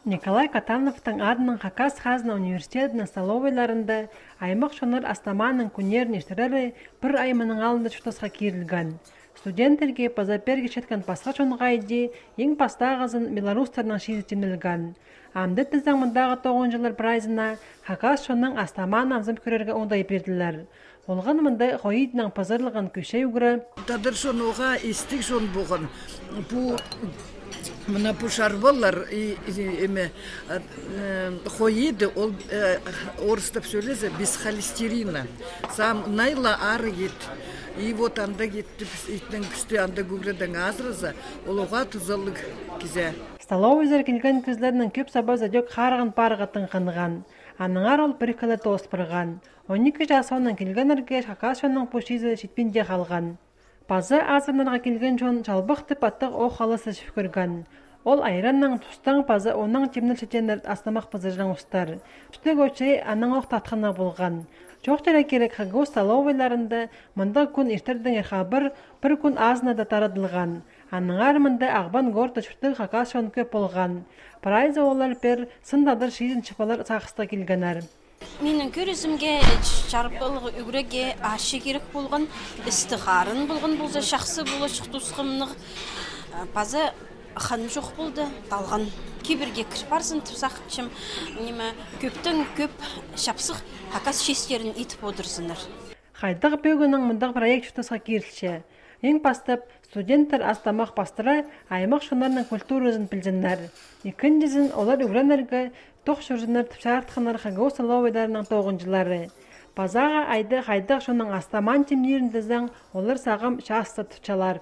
Николай Катановтың адының Хакас Хазна университетінің столовайларында аймақ шоныр астаманың күнерін ештірері бір аймының алында чутасқа кирілген. Студенттерге пазаперге шеткан пасқа шонғайды ең пастағызын белорустарының шиzy темнелген. Амды тіздің мұндағы 9 жылар прайзына Хакас шонның астаман амзым көрерге ондай берділер. Олған мұндай қойидның пазарлығын көше үгірі. Тадыр шон оға истік шон болған. Мына пушарбалар қойиды, ол орыстап сөйлесе без холестерина. Сам найла ары ет. И вот анда кетті, итнің пісті анда күгірдің азырыза, ол оға тұзалық кізе. Столовайзар келген кізлерінің көп сабаза дөк қарығын парығатын қанған. Аныңар ол бір кілі тост бірған. 12 жасауынан келген әрге Хакас шонның пушизі жетпенде қалған. Пазы азырнарға келген жон жалбықты паттық о қалысы шүп көрген. Ол айранның тұстың пазы оның темніл шетенер астамақ пазыржың ұстар. Түтік өтшей аның оқ татқына болған. Жоқ жәрі керек Хагау столовайларында мұнда күн ертердің ерхабыр бір күн азына да тарадылған. Аныңар мұнда ағбан горды жүртік Хакас шон көп болған. Прайзы олар бір сындадыр шизін шықпалар сақыста келгенер. Менің көрізімге жарпылығы үгіреге ашы керек болған, істіғарын болған болса, шақсы болы шықтусқымның базы қан жоқ болды, далған кеберге кірпарсын тұсақчым, көптің көп шапсық Хакас шестерін етіп отырсыныр. Қайдық бөгінің мұндағы проект жұтасқа керілші. Ең бастап, студенттер астамақ бастыра аймақ шонарының культурызын білдіңдер. Екіншізін олар үгіренерге тоқ жүрзінер түпшартқынар Хагау столовайдарының 9 жылары. Базаға айды қайдық шоның астаман темнерін діздің олар сағым шасты тұтчалар.